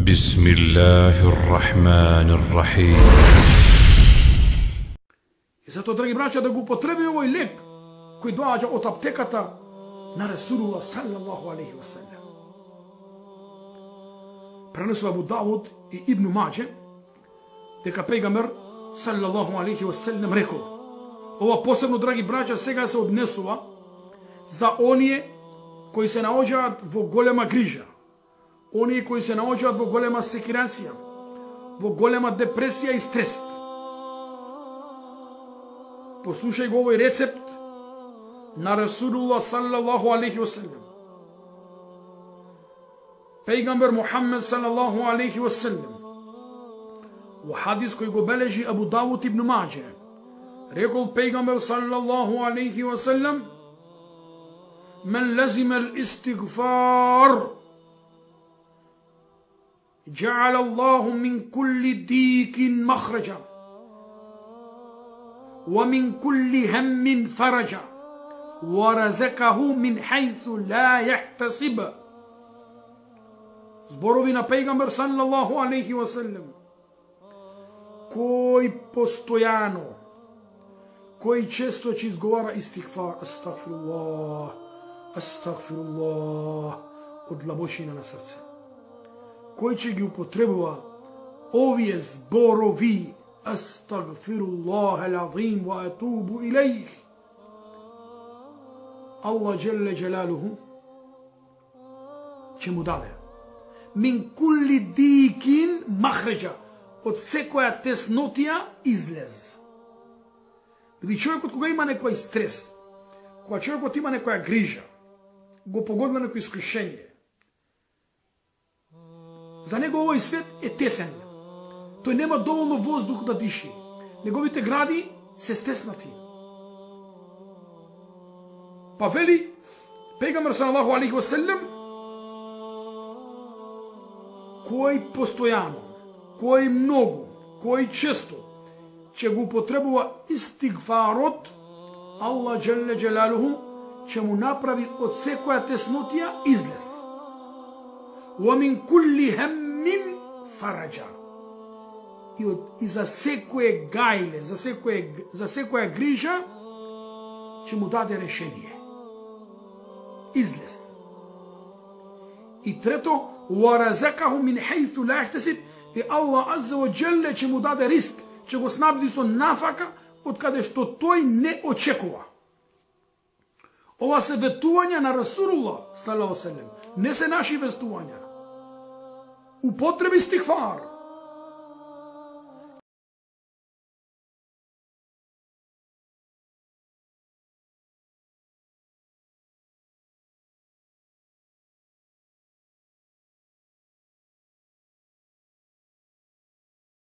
بسم الله الرحمن الرحيم. И затоа, драги браќа, да го употреби овој лек кој доаѓа од аптеката на Расулуллах саллаллаху алейхи ва саллем. Пренесува Абу Дауд и Ибн Маџе дека пејгамбер саллаллаху алейхи ва саллем рекол: ова посебно, драги браќа, сега се однесува за оние кои се наоѓаат во голема грижа, оние кои се наоѓаат во голема секирација, во голема депресија и стрес. Послушај го овој рецепт на Расулуллах саллаллаху алейхи ва саллем. Пејгамбер Мухаммед саллаллаху алейхи ва саллем во хадис кој го бележи Абу Дауд ибн Маџе рекол пејгамбер саллаллаху алейхи ва саллем: من لزم الاستغفار جعل الله من كل ضيق مخرجا ومن كل هم فرجا ورزقه من حيث لا يحتسب. Зборови на пејгамбер саллаллаху алейхи ва саллем, кој постојано, кој често ќе изговара истигфар, астагфируллах, астагфируллах, од длабочина на срце, кој ќе ги употребува овие зборови, астагфируллах ал-азим ва атубу илейх, Allah джелле джелалуху ќе му даде мин кулли дикин махреджа, од секоја теснотија излез. Види, човекот кога има некој стрес, кога човекот има некоја грижа, го погодна некој искушение, за него овој свет е тесен. Тој нема доволно воздух да диши. Неговите гради се стеснати. Па вели пејгамбер саллаллаху алейхи ва саллем, кој постојано, кој многу, кој често ќе го употребува истигфарот, Allah джелле джелалуху ќе му направи од секоја теснотија излез. وَمِنْ كُلِّ هَمٍّ فَرَجًا. И за секое гајле, за секоја грижа ќе му даде решение. Излез. И трето, وَرَزَقَهُ مِنْ حَيْثُ لَا يَحْتَسِبُ. И Allah азза ва џелле ќе му даде риск, ќе го снабди со нафака од каде што тој не очекува. Ова се ветувања на Расулуллах саллаллаху алейхи ва саллем, не се наши ветувања. Употреби стигфар.